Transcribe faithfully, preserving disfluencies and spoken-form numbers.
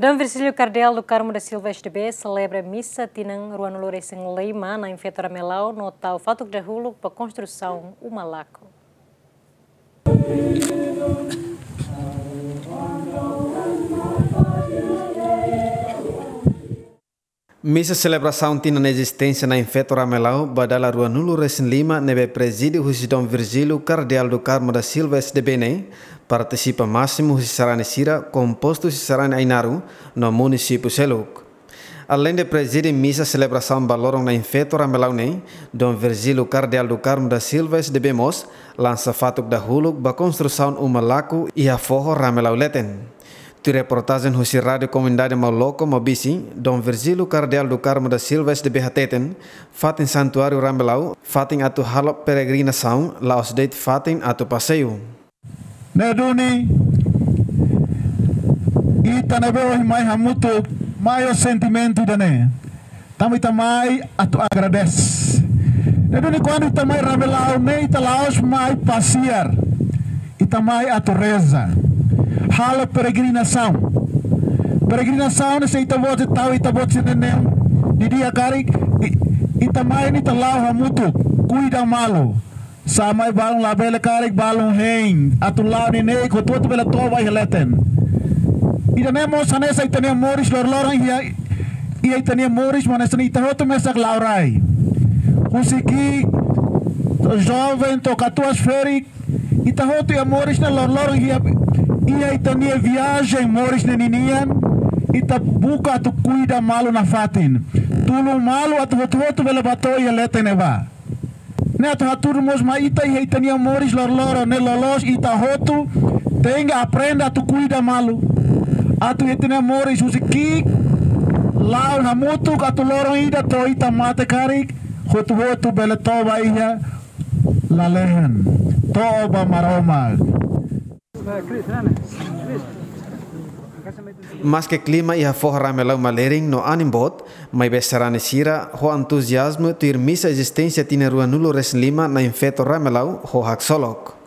Dom Virgílio Cardeal do Carmo da Silva S D B selebra misa tinan ruanulu-resin-lima Na'in Feto Ramelau no tau fatuk dahuluk ba konstrusaun uma lakon. Misa selebrasaun tinan ezisténsia Na'in Feto Ramelau ba dala ruanulu-resin-lima ne'ebé prezide husi Dom Virgílio Cardeal do Carmo da Silva S D B ne'e, partisipa másimu husi sarani sira, kompostu husi sarani Ainaro no munisípiu seluk. Aleinde prezide misa selebrasaun ba loron Na'in Feto Ramelau ne'e, Dom Virgílio Cardeal do Carmo da Silva S D B mós lansa fatuk dahuluk ba konstrusaun uma lakon iha foho Ramelau leten. Tuir reportajen husi Rádiu Komunidade Mauloko, Maubisse, Dom Virgílio Cardeal do Carmo da Silva S D B hateten, fatin santuáriu Ramelau, fatin atu halo peregrinasaun, la'ós de'it fatin atu paseiu. Ne'e duni, ita ne'ebé ohin mai hamutuk, mai ho sentimentu ida-ne'e. Tanba ita mai atu agradese. Ne'e duni, kuandu ita mai Ramelau ne'e, ita la'ós mai pasiar. Ita mai atu reza. Halo peregrinasaun. Peregrinasaun ne'e se ita-boot tau ita-boot sira-ne'e, di'ak karik, i-, ita mai ne'e ita la'o hamutuk, kuida malu. Sá mai balun labele karik, balun hein. Atu la'o neineik, hotu-hotu bele toba iha leten. Ida-ne'e mós hanesan ita-nia moris loroloron iha, iha ita-nia moris mós hanesan ita hotu mesak la'o rai. Husi ki'ik, to'o joven, to'o katuas ferik, ita hotu iha moris ne'e loroloron iha, iha ita-nia viajen moris ne'e ninian, ita buka atu kuida malu nafatin. Tulun malu atu hotu-hotu bele bá to'o iha leten ne'ebá. Ne'e atu hatudu mós mai ita iha ita-nia moris loroloron ne'e loloos ita hotu tenke aprende atu kuida malu. Atu ita-nia moris husi ki'ik la'o hamutuk atu loron ida to'o ita mate karik, hotu-hotu bele toba iha lalehan. Toba Maromak. Maske klima iha foho Ramelau malerin no anin boot, maibé sarani sira ho entuziazmu tuir misa ezisténsia tinan ruanulu-resin-lima Na'in Feto Ramelau ho haksolok.